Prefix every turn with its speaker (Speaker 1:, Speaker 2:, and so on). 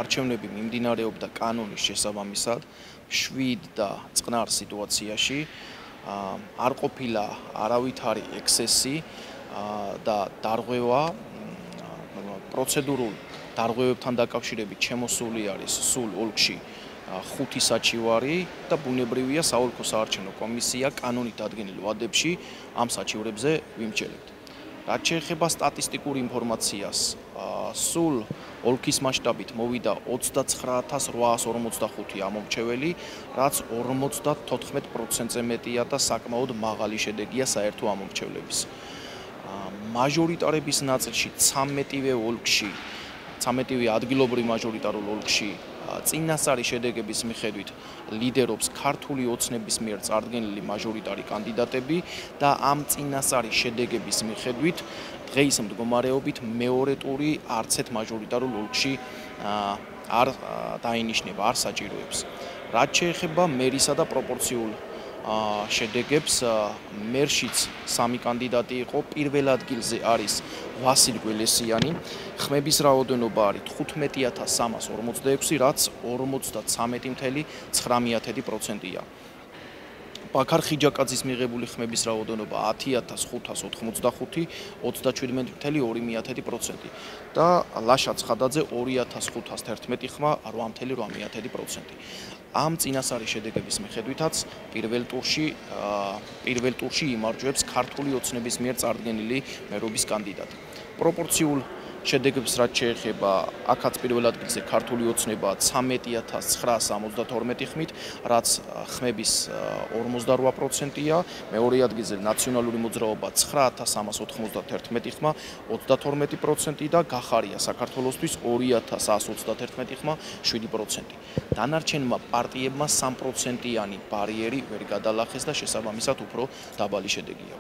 Speaker 1: არჩევნები მიმდინარეობდა კანონის შესაბამისად 7 და წყნარ სიტუაციაში არ ყოფილა არავითარი ექსესი და დარღვევა პროცედურულ დარღვევებთან დაკავშირებით შემოსული არის სულ ოლქში 5 საჩივარი და ბუნებრივია საოლქო საარჩევნო კომისია კანონით დადგენილ ვადებში ამ საჩივრებზე ვიმსჯელებთ. რაც შეეხება სტატისტიკურ ინფორმაციას, სულ ოლქის მასშტაბით მოვიდა 29845 ამომრჩეველი, რაც 54%-ზე მეტია და საკმაოდ მაღალი შედეგია საერთო ამომრჩევლების. მაჟორიტარების ნაწილში 13-ვე ოლქში, 13-ვე ადგილობრივ მაჟორიტარულ ოლქში წინასწარი შედეგების მიხედვით ლიდერობს ქართული ოცნების მიერ წარდგენილი მაჟორიტარი კანდიდატები და ამ წინასწარი შედეგების მიხედვით დღეის მდგომარეობით მეორე ტური არც ერთ მაჟორიტარულ ოლქში არ დაინიშნება, არ საჭიროებს. რაც შეეხება მერისა და პროპორციულ შედეგებს, მერშიც 3 კანდიდატი იყო, პირველ ადგილზე არის ვასილ გველესიანი, ხმების რაოდენობა არის 15346, რაც 53.9%-ია. ბაქარ ხიჯაკაძის მიღებული ხმების რაოდენობა 10585, 37.2% და ლაშა ცხადაძე 2511 ხმა, 8.8%. ამ წინასწარი შედეგების მიხედვითაც პირველ ტურში იმარჯვებს ქართული ოცნების მიერ წარდგენილი მერობის კანდიდატი. პროპორციულ შედეგებს რაც შეეხება, აქაც პირველ ადგილზე ქართული ოცნება 13972 ხმით, რაც ხმების 48%-ია, მეორე ადგილზე ნაციონალური მოძრაობა 9391 ხმა, 32% და გახარია საქართველოსთვის 2131 ხმა, 7%. დანარჩენმა პარტიებმა 3%-იანი ბარიერი ვერ გადალახეს და შესაბამისად უფრო დაბალი შედეგია.